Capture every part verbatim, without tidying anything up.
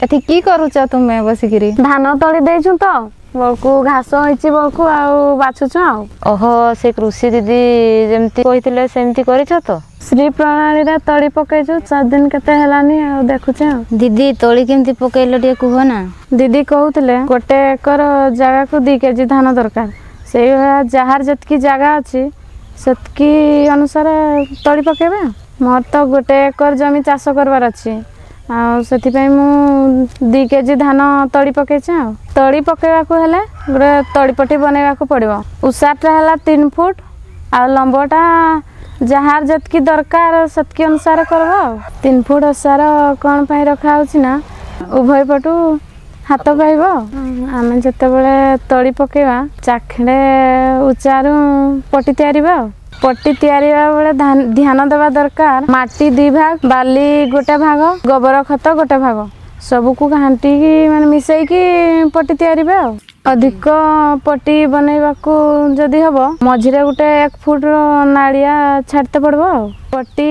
ଏଠି କି କରୁଛ ତୁମେ ବସିକିରି? ଧାନ ତଳି ଦେଇଛୁ ତ, ବଳକୁ ଘାସ ହେଇଛି, ବଳକୁ ଆଉ ବାଛୁଛୁ ଆଉ। ଓହୋ, ସେ କୃଷି ଦିଦି ଯେମିତି କହିଥିଲେ ସେମିତି କରିଛ ତ? ଶ୍ରୀ ପ୍ରଣାଳୀରେ ତଳି ପକେଇଛୁ, ଚାରି ଦିନ କେତେ ହେଲାନି, ଆଉ ଦେଖୁଛେ ଆଉ। ଦିଦି, ତଳି କେମିତି ପକେଇଲ ଟିକେ କୁହ ନା। ଦିଦି କହୁଥିଲେ ଗୋଟେ ଏକର ଜାଗାକୁ ଦି କେଜି ଧାନ ଦରକାର। ସେଇଭଳିଆ ଯାହାର ଯେତିକି ଜାଗା ଅଛି ସେତିକି ଅନୁସାରେ ତଳି ପକେଇବେ। ମୋର ତ ଗୋଟେ ଏକର ଜମି ଚାଷ କରିବାର ଅଛି, ଆଉ ସେଥିପାଇଁ ମୁଁ ଦୁଇ କେଜି ଧାନ ତଳି ପକେଇଛି। ଆଉ ତଳି ପକେଇବାକୁ ହେଲେ ଗୋଟେ ତଳିପଟି ବନେଇବାକୁ ପଡ଼ିବ। ଉଷାରଟା ହେଲା ତିନି ଫୁଟ, ଆଉ ଲମ୍ବଟା ଯାହାର ଯେତିକି ଦରକାର ସେତିକି ଅନୁସାରେ କରିବ। ଆଉ ତିନି ଫୁଟ ଓସାର କ'ଣ ପାଇଁ ରଖାହେଉଛି ନା, ଉଭୟ ପଟୁ ହାତ ପାଇବ। ଆମେ ଯେତେବେଳେ ତଳି ପକେଇବା, ଚାଖେଣ୍ଡେ ଉଚ୍ଚାରୁ ପଟି ତିଆରିବା। ଆଉ ପଟି ତିଆରିବା ବେଳେ ଧ୍ୟାନ ଦେବା ଦରକାର, ମାଟି ଦୁଇ ଭାଗ, ବାଲି ଗୋଟେ ଭାଗ, ଗୋବର ଖତ ଗୋଟେ ଭାଗ, ସବୁକୁ ଘାଣ୍ଟିକି ମାନେ ମିଶେଇକି ପଟି ତିଆରିବେ। ଆଉ ଅଧିକ ପଟି ବନେଇବାକୁ ଯଦି ହବ, ମଝିରେ ଗୋଟେ ଏକ ଫୁଟର ନାଳିଆ ଛାଡ଼ିତେ ପଡ଼ିବ। ଆଉ ପଟି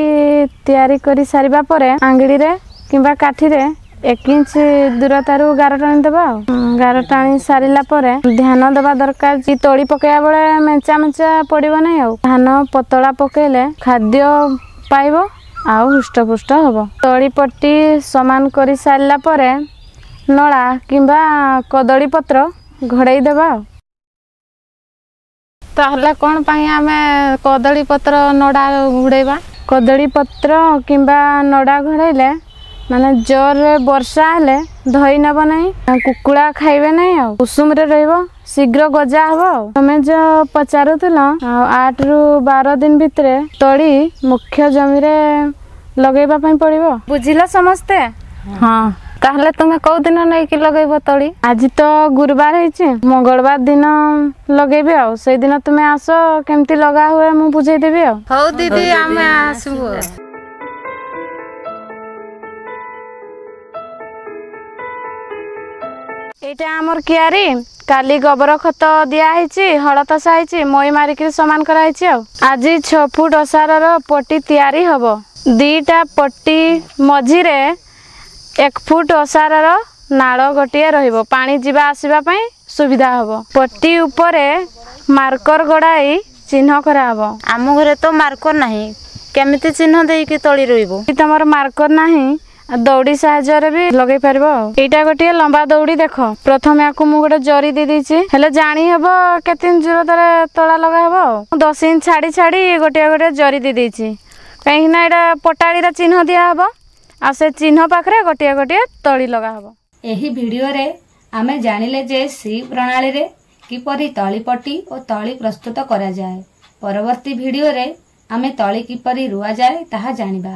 ତିଆରି କରି ସାରିବା ପରେ ଆଙ୍ଗିଳିରେ କିମ୍ବା କାଠିରେ ଏକ ଇଞ୍ଚ ଦୂରତାରୁ ଗାର ଟାଣିଦେବା। ଆଉ ଗାର ଟାଣି ସାରିଲା ପରେ ଧ୍ୟାନ ଦେବା ଦରକାର ଯେ ତଳି ପକେଇବା ବେଳେ ମେଞ୍ଚା ମେଞ୍ଚା ପଡ଼ିବ ନାହିଁ। ଆଉ ଧାନ ପତଳା ପକେଇଲେ ଖାଦ୍ୟ ପାଇବ ଆଉ ହୃଷ୍ଟପୁଷ୍ଟ ହବ। ତଳି ପଟି ସମାନ କରି ସାରିଲା ପରେ ନଳା କିମ୍ବା କଦଳୀ ପତ୍ର ଘୋଡ଼େଇ ଦେବା। ଆଉ ତାହେଲେ କ'ଣ ପାଇଁ ଆମେ କଦଳୀ ପତ୍ର ନଡ଼ା ଘୋଡ଼େଇବା? କଦଳୀ ପତ୍ର କିମ୍ବା ନଡ଼ା ଘୋଡ଼େଇଲେ ମାନେ ଜୋରରେ ବର୍ଷା ହେଲେ ଧୋଇ ନେବ ନାହିଁ, କୁକୁଡ଼ା ଖାଇବେ ନାହିଁ, ଆଉ ଉଷୁମରେ ରହିବ, ଶୀଘ୍ର ଗଜା ହବ। ଆଉ ତମେ ଯୋଉ ପଚାରୁଥିଲ, ଆଉ ଆଠରୁ ବାର ଦିନ ଭିତରେ ତଳି ମୁଖ୍ୟ ଜମିରେ ଲଗେଇବା ପାଇଁ ପଡ଼ିବ। ବୁଝିଲ ସମସ୍ତେ? ହଁ। ତାହେଲେ ତୁମେ କୋଉ ଦିନ ନେଇକି ଲଗେଇବ ତଳି? ଆଜି ତ ଗୁରୁବାର ହେଇଛି, ମଙ୍ଗଳବାର ଦିନ ଲଗେଇବି। ଆଉ ସେଇଦିନ ତୁମେ ଆସ, କେମିତି ଲଗା ହୁଏ ମୁଁ ବୁଝେଇଦେବି। ଆଉ ହଉ ଦିଦି, ଆମେ ଆସିବୁ। ଏଇଟା ଆମର କିଆରି। କାଲି ଗୋବର ଖତ ଦିଆ ହେଇଛି, ହଳ ତସା ହେଇଛି, ମଇ ମାରିକିରି ସମାନ କରାହେଇଛି। ଆଉ ଆଜି ଛଅ ଫୁଟ ଓସାରର ପଟି ତିଆରି ହବ। ଦିଟା ପଟି ମଝିରେ ଏକ ଫୁଟ ଓସାରର ନାଳ ଗୋଟିଏ ରହିବ, ପାଣି ଯିବା ଆସିବା ପାଇଁ ସୁବିଧା ହବ। ପଟି ଉପରେ ମାର୍କର ଗଡ଼ାଇ ଚିହ୍ନ କରାହବ। ଆମ ଘରେ ତ ମାର୍କର ନାହିଁ, କେମିତି ଚିହ୍ନ ଦେଇକି ତଳି ରୋଇବୁ? ତମର ମାର୍କର ନାହିଁ, ଦଉଡ଼ି ସାହାଯ୍ୟରେ ବି ଲଗେଇ ପାରିବ। ଆଉ ଏଇଟା ଗୋଟିଏ ଲମ୍ବା ଦଉଡ଼ି ଦେଖ। ପ୍ରଥମେ ଆକୁ ମୁଁ ଗୋଟେ ଜରି ଦେଇ ଦେଇଛି, ହେଲେ ଜାଣି ହବ କେତେ ଇଞ୍ଚ ଦୂରତାରେ ତଳା ଲଗା ହବ। ଆଉ ଦଶ ଇଞ୍ଚ ଛାଡ଼ି ଛାଡ଼ି ଗୋଟିଏ ଗୋଟିଏ ଜରି ଦେଇ ଦେଇଛି, କାହିଁକି ନା ଏଇଟା ପଟାଳିର ଚିହ୍ନ ଦିଆହବ, ଆଉ ସେ ଚିହ୍ନ ପାଖରେ ଗୋଟିଏ ଗୋଟିଏ ତଳି ଲଗା ହବ। ଏହି ଭିଡିଓରେ ଆମେ ଜାଣିଲେ ଯେ ଶ୍ରୀ ପ୍ରଣାଳୀରେ କିପରି ତଳିପଟି ଓ ତଳି ପ୍ରସ୍ତୁତ କରାଯାଏ। ପରବର୍ତ୍ତୀ ଭିଡିଓରେ ଆମେ ତଳି କିପରି ରୁଆଯାଏ ତାହା ଜାଣିବା।